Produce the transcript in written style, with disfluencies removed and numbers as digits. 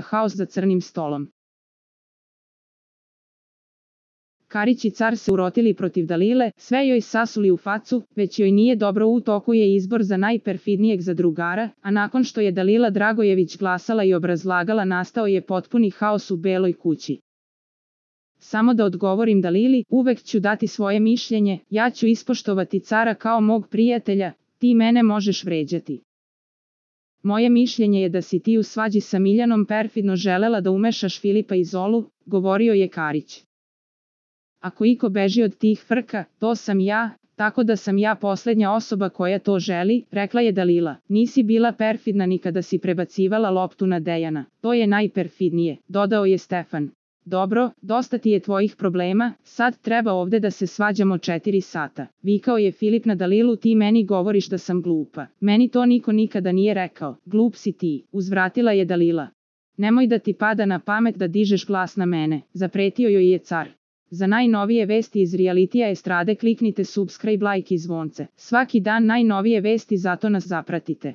haos za crnim stolom. Karić i car se urotili protiv Dalile, sve joj sasuli u facu, već joj nije dobro, u toku je izbor za najperfidnijeg zadrugara, a nakon što je Dalila Dragojević glasala i obrazlagala, nastao je potpuni haos u Beloj kući. Samo da odgovorim Dalili, uvek ću dati svoje mišljenje, ja ću ispoštovati cara kao mog prijatelja, ti mene možeš vređati. Moje mišljenje je da si ti u svađi sa Miljanom perfidno želela da umešaš Filipa i Zolu, govorio je Karić. Ako iko beži od tih frka, to sam ja, tako da sam ja posljednja osoba koja to želi, rekla je Dalila. Nisi bila perfidna ni kada si prebacivala loptu na Dejana, to je najperfidnije, dodao je Stefan. Dobro, dosta ti je tvojih problema, sad treba ovde da se svađamo 4 sata. Vikao je Filip na Dalilu, ti meni govoriš da sam glupa. Meni to niko nikada nije rekao, glup si ti, uzvratila je Dalila. Nemoj da ti pada na pamet da dižeš glas na mene, zapretio joj je car. Za najnovije vesti iz realitija estrade kliknite subscribe, like i zvonce. Svaki dan najnovije vesti, zato nas zapratite.